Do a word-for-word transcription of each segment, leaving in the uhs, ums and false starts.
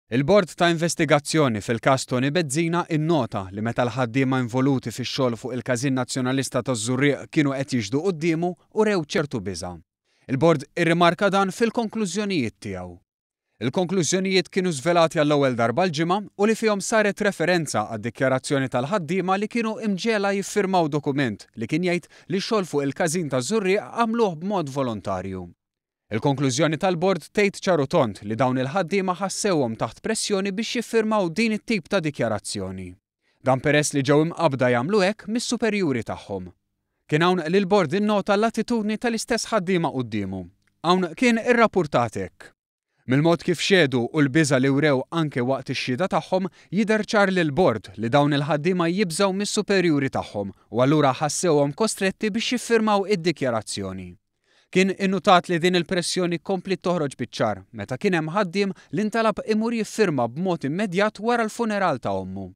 Il-Bord ta' Investigazzjoni fil-każ Toni Bezzina innota li meta l-ħaddiema involuti fix-xogħol fuq il-Każin Nazzjonalista taż-Żurrieq kienu qed jixhdu quddiemu urew ċertu biża'. Il-Bord irrimarka dan fil-konklużjonijiet tiegħu. Il-konklużjonijiet kienu żvelati għall-ewwel darba l-Ġimgħa u li fihom saret referenza għad-dikjarazzjoni tal-ħaddiema li kienu imġegħla jiffirmaw dokument li kien jgħid li x-xogħol fuq il-każin taż-Żurrieq għamluh b'mod volontarju. Il-konklużjoni tal-bord tgħid ċar u tond li dawn il-ħaddiema ħassewhom taħt pressjoni biex jiffirmaw din it-tip ta' dikjarazzjoni. Dan peress li ġew imqabbda jagħmlu hekk mis-superjuri tagħhom. Kien hawn li l-bord innota l-attitudni tal-istess ħaddiema quddiemu. Hawn kien irrappurtat hekk. Mill-mod kif xehdu u l-biża' li wrew anke waqt ix-xhieda tagħhom, jidher ċar lill-bord li dawn il-ħaddiema jibżgħu mis-superjuri tagħhom u allura ħassewhom kostretti biex jiffirmaw id-dikjarazzjoni. Kien innutat li din il-pressjoni kompliet toħroġ biċ-ċar meta kien hemm ħaddiem li ntalab imur jiffirma b'mod immedjat wara l-funeral ta' ommu.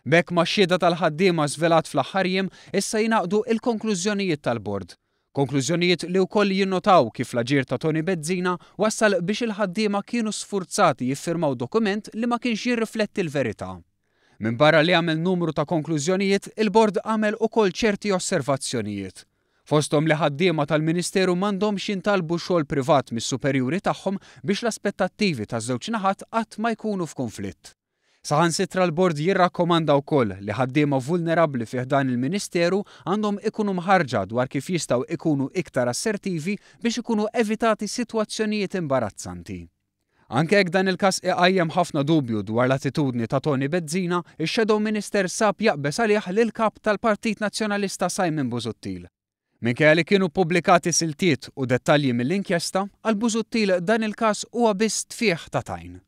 B'hekk max-xhieda tal-ħaddiema żvelat fl-aħħar jiem issa jingħaqdu il-konklużjonijiet tal-bord. Konklużjonijiet li wkoll jinnotaw kif l-aġir ta' Toni Bezzina wassal biex il-ħaddiema kienu sfurzati jiffirmaw dokument li ma kienx jirrifletti l-verità. Minbarra li għamel numru ta' konklużjonijiet, il-bord għamel ukoll ċerti osservazzjonijiet. Fosthom li ħaddiema tal-Ministeru m'għandhomx jintalbu xogħol privat mis-superjuri tagħhom biex l-aspettattivi taż-żewġ naħat qatt ma jkunu f'konflitt. Saħansitra l-bord jirrakkomanda wkoll li ħaddiema vulnerabbli fi ħdan il-Ministeru għandhom ikunu mħarrġa dwar kif jistgħu ikunu iktar assertivi biex ikunu evitati sitwazzjonijiet imbarazzanti. Anke jekk dan il-każ iqajjem ħafna dubju dwar l-attitudni ta' Toni Bezzina, ix-Shadow Minister sab jaqbeż għalih lil kap tal-Partit Nazzjonalista Simon Busuttil. Minkejja li kienu pubblikati siltiet u dettalji mill-inkjesta, għal Busuttil dan il-każ huwa biss tfieħ ta' tajn.